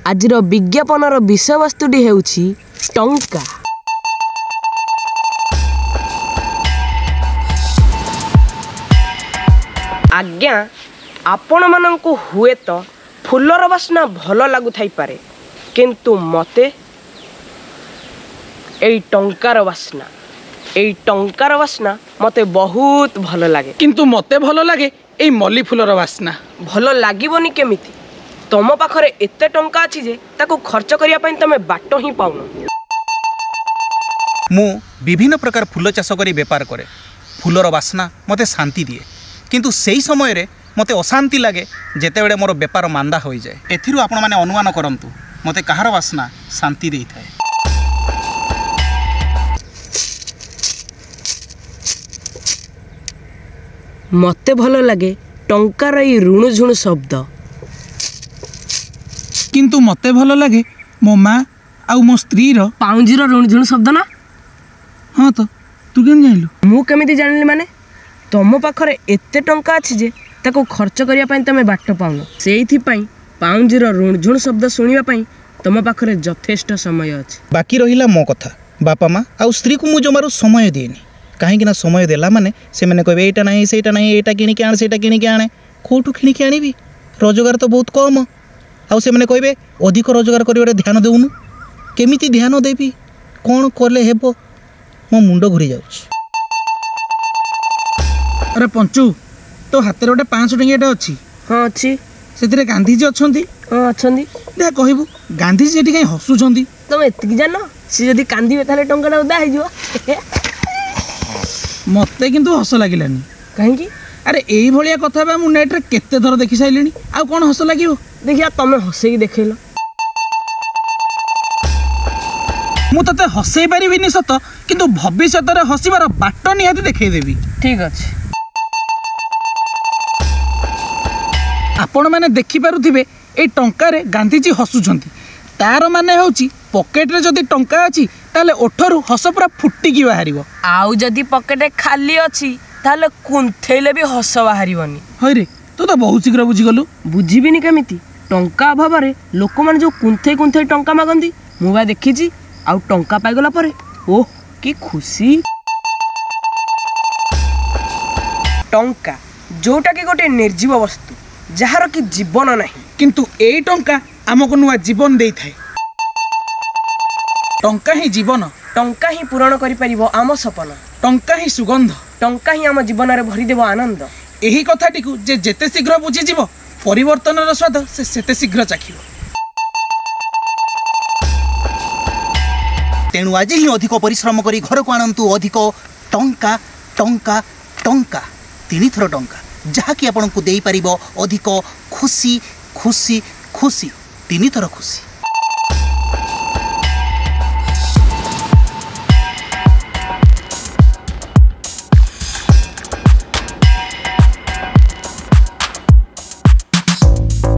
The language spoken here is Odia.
ଆଜିର ବିଜ୍ଞାପନର ବିଷୟବସ୍ତୁଟି ହେଉଛି ଟଙ୍କା। ଆଜ୍ଞା, ଆପଣମାନଙ୍କୁ ହୁଏତ ଫୁଲର ବାସ୍ନା ଭଲ ଲାଗୁଥାଇପାରେ, କିନ୍ତୁ ମୋତେ ଏଇ ଟଙ୍କାର ବାସ୍ନା, ଏଇ ଟଙ୍କାର ବାସ୍ନା ମୋତେ ବହୁତ ଭଲ ଲାଗେ। କିନ୍ତୁ ମୋତେ ଭଲ ଲାଗେ ଏଇ ମଲ୍ଲି ଫୁଲର ବାସ୍ନା। ଭଲ ଲାଗିବନି କେମିତି? ତମ ପାଖରେ ଏତେ ଟଙ୍କା ଅଛି ଯେ ତାକୁ ଖର୍ଚ୍ଚ କରିବା ପାଇଁ ତମେ ବାଟ ହିଁ ପାଉନ। ମୁଁ ବିଭିନ୍ନ ପ୍ରକାର ଫୁଲ ଚାଷ କରି ବେପାର କରେ। ଫୁଲର ବାସ୍ନା ମୋତେ ଶାନ୍ତି ଦିଏ, କିନ୍ତୁ ସେହି ସମୟରେ ମୋତେ ଅଶାନ୍ତି ଲାଗେ ଯେତେବେଳେ ମୋର ବେପାର ମାନ୍ଦା ହୋଇଯାଏ। ଏଥିରୁ ଆପଣମାନେ ଅନୁମାନ କରନ୍ତୁ ମୋତେ କାହାର ବାସ୍ନା ଶାନ୍ତି ଦେଇଥାଏ। ମୋତେ ଭଲ ଲାଗେ ଟଙ୍କାର ଏଇ ରୁଣୁଝୁଣୁ ଶବ୍ଦ। କିନ୍ତୁ ମୋତେ ଭଲ ଲାଗେ ମୋ ମା ଆଉ ମୋ ସ୍ତ୍ରୀର ପାଉଁଜିର ରୁଣୁଝୁଣୁ ଶବ୍ଦ ନା? ହଁ ତ, ତୁ କେମିତି ଜାଣିଲୁ? ମୁଁ କେମିତି ଜାଣିଲି ମାନେ, ତମ ପାଖରେ ଏତେ ଟଙ୍କା ଅଛି ଯେ ତାକୁ ଖର୍ଚ୍ଚ କରିବା ପାଇଁ ତମେ ବାଟ ପାଉନ। ସେଇଥିପାଇଁ ପାଉଁଜିର ରୁଣୁଝୁଣୁ ଶବ୍ଦ ଶୁଣିବା ପାଇଁ ତମ ପାଖରେ ଯଥେଷ୍ଟ ସମୟ ଅଛି। ବାକି ରହିଲା ମୋ କଥା, ବାପା ମା ଆଉ ସ୍ତ୍ରୀକୁ ମୁଁ ଜମାରୁ ସମୟ ଦିଏନି। କାହିଁକିନା ସମୟ ଦେଲା ମାନେ ସେମାନେ କହିବେ ଏଇଟା ନାହିଁ, ସେଇଟା ନାହିଁ, ଏଇଟା କିଣିକି ଆଣେ, ସେଇଟା କିଣିକି ଆଣେ। କେଉଁଠୁ କିଣିକି ଆଣିବି? ରୋଜଗାର ତ ବହୁତ କମ୍। ଆଉ ସେମାନେ କହିବେ ଅଧିକ ରୋଜଗାର କରିବାରେ ଧ୍ୟାନ ଦେଉନୁ। କେମିତି ଧ୍ୟାନ ଦେବି? କ'ଣ କଲେ ହେବ? ମୋ ମୁଣ୍ଡ ଘୁରି ଯାଉଛି। ଆରେ ପଞ୍ଚୁ, ତୋ ହାତରେ ଗୋଟେ 500 ଟଙ୍କିଆଟା ଅଛି? ହଁ ଅଛି। ସେଥିରେ ଗାନ୍ଧିଜୀ ଅଛନ୍ତି? ହଁ ଅଛନ୍ତି। ଦେଖ କହିବୁ, ଗାନ୍ଧିଜୀ ସେଠି କାହିଁ ହସୁଛନ୍ତି? ତମେ ଏତିକି ଜାଣ, ସେ ଯଦି କାନ୍ଦିବେ ତାହେଲେ ଟଙ୍କାଟା ଓଦା ହେଇଯିବ। ମୋତେ କିନ୍ତୁ ହସ ଲାଗିଲାନି। କାହିଁକି? ଆରେ ଏଇଭଳିଆ କଥା ବା ମୁଁ ନେଟ୍ରେ କେତେ ଥର ଦେଖି ସାରିଲିଣି, ଆଉ କ'ଣ ହସ ଲାଗିବ? ଦେଖିବା ତମେ ହସେଇକି ଦେଖେଇଲ। ମୁଁ ତତେ ହସେଇ ପାରିବିନି ସତ, କିନ୍ତୁ ଭବିଷ୍ୟତରେ ହସିବାର ବାଟ ନିହାତି ଦେଖେଇଦେବି। ଠିକ୍ ଅଛି। ଆପଣମାନେ ଦେଖିପାରୁଥିବେ ଏଇ ଟଙ୍କାରେ ଗାନ୍ଧିଜୀ ହସୁଛନ୍ତି। ତାର ମାନେ ହେଉଛି ପକେଟରେ ଯଦି ଟଙ୍କା ଅଛି ତାହେଲେ ଓଠରୁ ହସ ପୁରା ଫୁଟିକି ବାହାରିବ। ଆଉ ଯଦି ପକେଟ ଖାଲି ଅଛି ତାହେଲେ କୁନ୍ଥେଇଲେ ବି ହସ ବାହାରିବନି। ହଇରେ, ତୁ ତ ବହୁତ ଶୀଘ୍ର ବୁଝିଗଲୁ। ବୁଝିବିନି କେମିତି? ଟଙ୍କା ଅଭାବରେ ଲୋକମାନେ ଯେଉଁ କୁନ୍ଥେଇ କୁନ୍ଥେଇ ଟଙ୍କା ମାଗନ୍ତି ମୁଁ ବା ଦେଖିଛି। ଆଉ ଟଙ୍କା ପାଇଗଲା ପରେ ଓହ କି ଖୁସି। ଟଙ୍କା ଯୋଉଟାକି ଗୋଟେ ନିର୍ଜୀବ ବସ୍ତୁ, ଯାହାର କି ଜୀବନ ନାହିଁ, କିନ୍ତୁ ଏଇ ଟଙ୍କା ଆମକୁ ନୂଆ ଜୀବନ ଦେଇଥାଏ। ଟଙ୍କା ହିଁ ଜୀବନ। ଟଙ୍କା ହିଁ ପୂରଣ କରିପାରିବ ଆମ ସପନ। ଟଙ୍କା ହିଁ ସୁଗନ୍ଧ। ଟଙ୍କା ହିଁ ଆମ ଜୀବନରେ ଭରିଦେବ ଆନନ୍ଦ। ଏହି କଥାଟିକୁ ଯେ ଯେତେ ଶୀଘ୍ର ବୁଝିଯିବ, ପରିବର୍ତ୍ତନର ସ୍ୱାଦ ସେ ସେତେ ଶୀଘ୍ର ଚାଖିବ। ତେଣୁ ଆଜି ହିଁ ଅଧିକ ପରିଶ୍ରମ କରି ଘରକୁ ଆଣନ୍ତୁ ଅଧିକ ଟଙ୍କା, ଟଙ୍କା, ଟଙ୍କା, ତିନିଥର ଟଙ୍କା, ଯାହାକି ଆପଣଙ୍କୁ ଦେଇପାରିବ ଅଧିକ ଖୁସି, ଖୁସି, ଖୁସି, ତିନିଥର ଖୁସି।